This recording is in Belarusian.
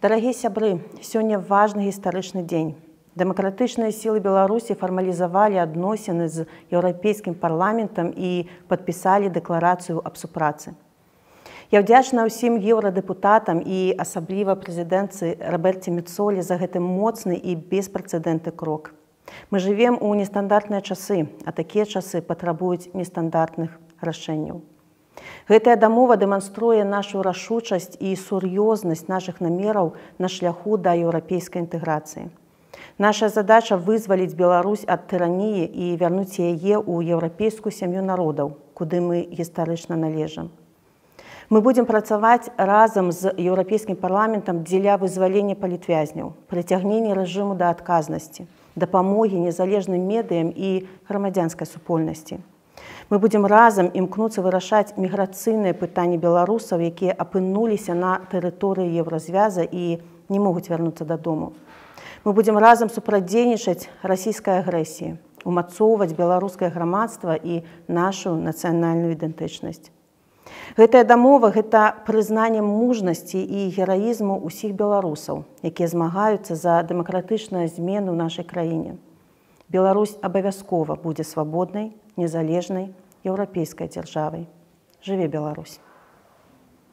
Дарагія сябры, сёння важны гістарычны дзень. Дэмакратычныя сілы Беларусі фармалізавалі адносіны з Еўрапейскім парламентам і падпісалі дэкларацыю аб супрацы. Я ўдзячна ўсім еўрадэпутатам і асабліва прэзідэнтцы Роберце Мецолі за гэты моцны і беспрэцэдэнтны крок. Мы жывем у нестандартныя часы, а такія часы патрабуюць нестандартных рашэнняў. Гэтая дамова дэманструе нашу рашучасць і сур'ёзнасць нашых намераў на шляху да еўрапейскай інтэграцыі. Наша задача вызваліць Беларусь ад тыраніі і вярнуць яе ў еўрапейскую сям'ю народаў, куды мы гістарычна належым. Мы будзем працаваць разам з Еўрапейскім парламентам дзеля вызвалення палітвязняў, прыцягнення рэжыму да адказнасці, дапамогі незалежным медыям і грамадзянскай супольнасці. Мы будзем разам імкнуцца вырашаць міграцыйныя пытанні беларусаў, якія апынуліся на тэрыторыі еўразвяза і не могуць вярнуцца дадому. Мы будзем разам супрацьдзейнічаць расійскай агрэсіі, умацоўваць беларускае грамадства і нашу нацыянальную ідэнтычнасць. Гэтая дамова – гэта прызнанне мужнасці і гераізму ўсіх беларусаў, якія змагаюцца за дэмакратычную змену ў нашай краіне. Беларусь абавязкова будзе свабоднай, незалежнай еўрапейскай дзяржавай. Жыве Беларусь!